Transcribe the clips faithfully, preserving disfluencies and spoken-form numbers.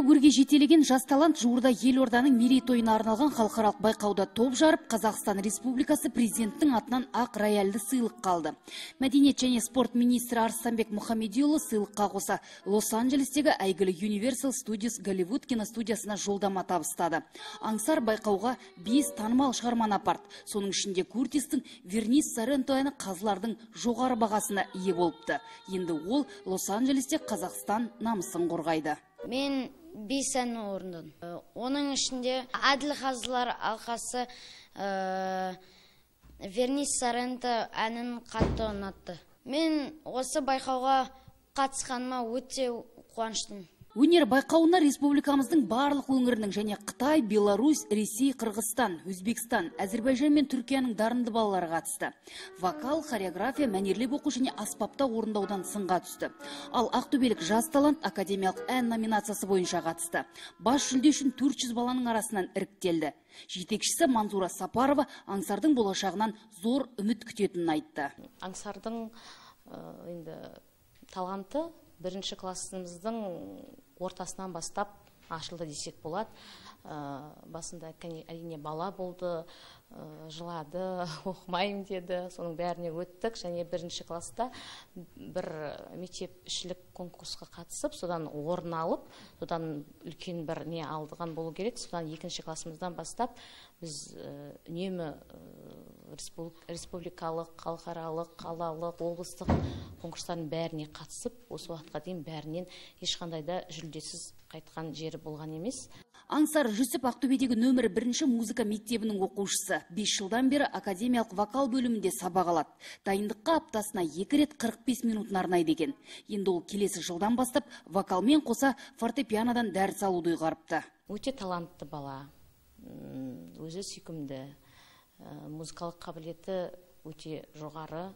өрге жетелеген жас талант жуырда елорданың мерейтойына арналған халықаралық байқауда топ жарып, Қазақстан Республикасы президенттің атынан ақ рояльді сыйлық қалды. Мәдениет және спорт министрі Арыстанбек Мұхамедиұлы сыйлыққа қоса Лос-Анджелестегі әйгілі Universal Studios Голливуд киностудиясына жолдама табыстады. Аңсар байқауға бес танымал шығарманы апарды. Соның ішінде Куртистің Вернис Сорренто әні қазылардың жоғары бағасына ие болыпты. Енді ол Лос-Анджелесте Қазақстан намысын қорғайды. Мен бес әнін орындадым. Оның ішінде Әділ қазылар алқасы Вернис Сорренто әнін қатты ұнатты. Мен осы байқауға қатысқаныма өте қуаныштымын. Өнер байқауына республикамыздың барлық өңірінің және Қытай, Беларусь, Ресей, Қырғызстан, Өзбекстан, Әзербайжан мен Түркияның дарынды балалары қатысты. Вокал, хореография, мәнерлеп оқу және аспапта орындаудан сынға түсті. Ал ақтөбелік жас талант академиялық ән номинациясы бойынша қатысты. Бас жүлде үшін төрт жүз баланың арасынан іріктелді. Жетекшісі Манзура Сапарова аңсардың болашағынан зор үміт күтетінін айтты. Аңсардың енді таланты бірінші классымыздың ортасынан бастап ашылды десек болады. Басында әрине бала болды, жылады, оқымайым деді. Соның бәріне өттік, және бірінші класста бір мектепішілік конкурсқа қатысып, содан орын алып, содан үлкен бір не алдыған болу керек. Содан екінші классымыздан бастап біз үнемі республикалық, халықаралық, қалалық, облыстық конкурстардың бәріне қатысып, осы уақытқа дейін бәрінен ешқандайда жүлдесіз қайтқан жері болған емес. Аңсар Жүсіп Ақтөбедегі нөмір бірінші музыка мектебінің оқушысы. бес жылдан бері академиялық вокал бөлімінде сабақ алады. Дайындыққа аптасына екі рет қырық бес минутын арнайды екен. Енді ол келесі жылдан бастап вокалмен қоса фортепианодан дәріс алуды ұйғарыпты. Өте талантты бала, өзі сүйкімді, музыкалық қабілеті өте жоғары.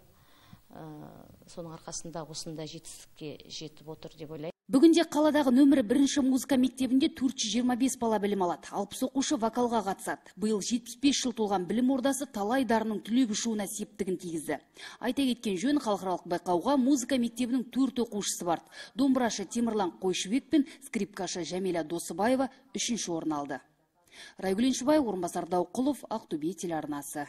Соның арқасында осында жетістікке жетіп отыр деп ойлаймын. Бүгінде қаладағы нөмірі бірінші музыка мектебінде төрт жүз жиырма бес бала білім алады. алпыс оқушы вокалға қатысады. Биыл жетпіс бес жыл толған білім ордасы талай дарынның түлеп ұшуына септігін тигізді. Айта кеткен жөн, халықаралық байқауға музыка мектебінің төрт оқушысы барды. Домбырашы Темірлан Қойшыбек пен скрипкашы Жәмила Досыбаева үшінші орын алды. Райгүл Еншібай, орынбасар Дауқұлов, Ақтөбе телеарнасы.